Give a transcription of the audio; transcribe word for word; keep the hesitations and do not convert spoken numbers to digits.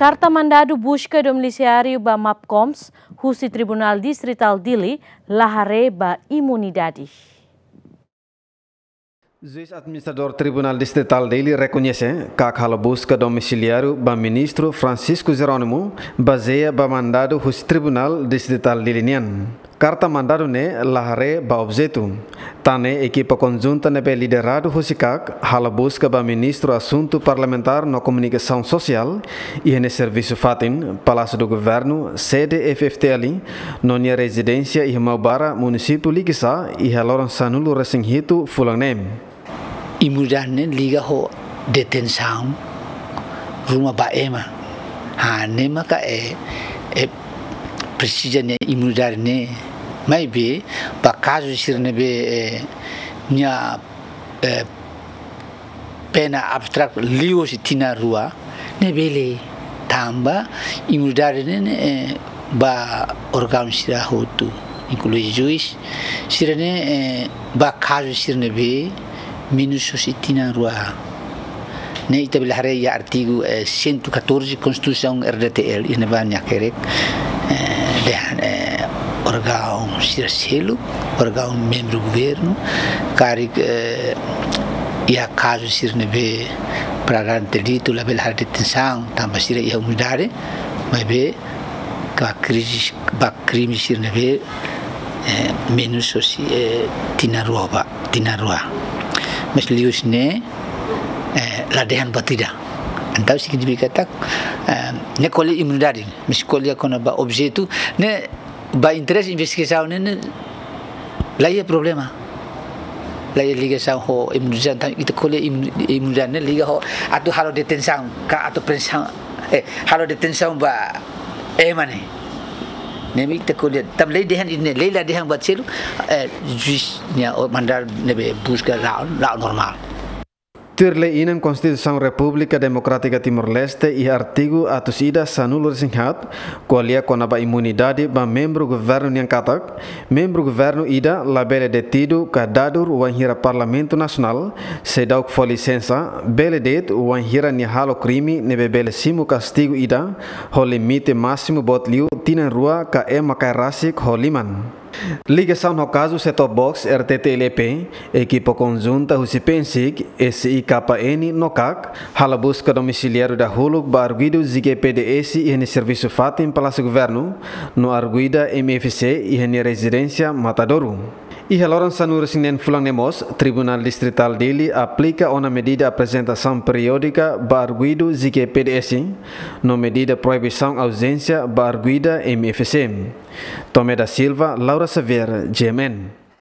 Karta mandadu buska domisiáriu ba Mapcoms husi Tribunál Distritál Dili la haree ba imunidade. Juís Administradór Tribunál Distritál Dili rekoñese katak halo buska domisiáriu ba Ministru Francisco Jerónimo, bazeia ba mandadu husi Tribunál Distritál Dili nian. Karta mandadu ne'e la haree ba objetu. Tan ne'e ekipa konjunta ne'ebé lideradu husi KAK halo buska ba Ministru Asuntu Parlamentár no Komunikasaun Sosiál iha nia servisu fatin, Palásiu do Governu, sede F-FDTL, no nia rezidénsia iha Maubara, munisípiu Likisá, iha loron sanulu-resin-hitu fulan ne'e. Imunidade ne'e liga ho detensaun ruma ba ema. Hanesan ne'e maka, eh, eh, presiza nia imunidade ne'e. Maibé, ba kazu sira ne'ebé, eh, nia, eh, pena abstrak liu husi tinan rua, ne'e bele tanba imunidade ne'e, ne'e, eh, ba órgaun sira hotu, inklui juís sira ne'e, eh, ba kazu sira ne'ebé menus husi tinan rua. Ne'e ita bele haree iha artigu, eh, cento e catorze Konstituisaun RDTL, iha ne'ebá nia hakerek, eh, dehan, eh, órgaun sira seluk, órgaun membru governu, karik, eh, iha kazu sira ne'ebé flagrante delitu labele halo detensaun, tanba sira iha imunidade, maibé ba krize, ba krime sira ne'ebé, eh, menus husi, eh, tinan rua ba, tinan rua. Mas liuhusi ne'e, eh, la dehan buat ida. Entaun signifika katak, eh, ne'e ko'alia imunidade, mas ko'alia kona-ba objetu, ne'e ba interese investigasaun ne'e, ne'e la iha problema. La iha ligasaun ho imunidade, entaun ita ko'alia imu-, imunidade ne'e liga ho atu halo detensaun, ka atu prensaun, eh, halo detensaun ba ema ne'e. Ne'e mak ita ko'alia, tanba lei dehan ne'e, lei la dehan buat seluk, eh, juís nia o mandar ne'ebé buska la'o, la'o normál. Tuir lei inan Konstituisaun Repúblika Demokrátika Timor-Leste iha artigu atus ida sanulu-resin-haat, ko'alia kona-ba imunidade ba membru governu nian katak, membru governu ida labele detidu ka dadur wainhira Parlamentu Nasionál, seidauk fó lisensa, bele de'it wainhira nia halo krime ne'ebé bele simu kastigu ida, ho limite másimu boot liu tinan rua ka ema kaer rasik ho liman. Ligasaun ho kazu set-top box RTTL-EP, ekipa konjunta husi PNSIK, SIKN no KAK, halo buska domisiáriu dahuluk ba arguidu JGPDS iha nia servisu fatin Palásiu Governu, no arguida MFC iha nia rezidénsia Matadouro. Iha loron sanulu-resin-neen fulan ne'e mós, Tribunál Distritál Dili aplika ona medida aprezentasaun periódika ba arguidu JGPDS, no medida proibisaun auzénsia ba arguida MFC. Tomé da Silva, Laura Xavier, GMN.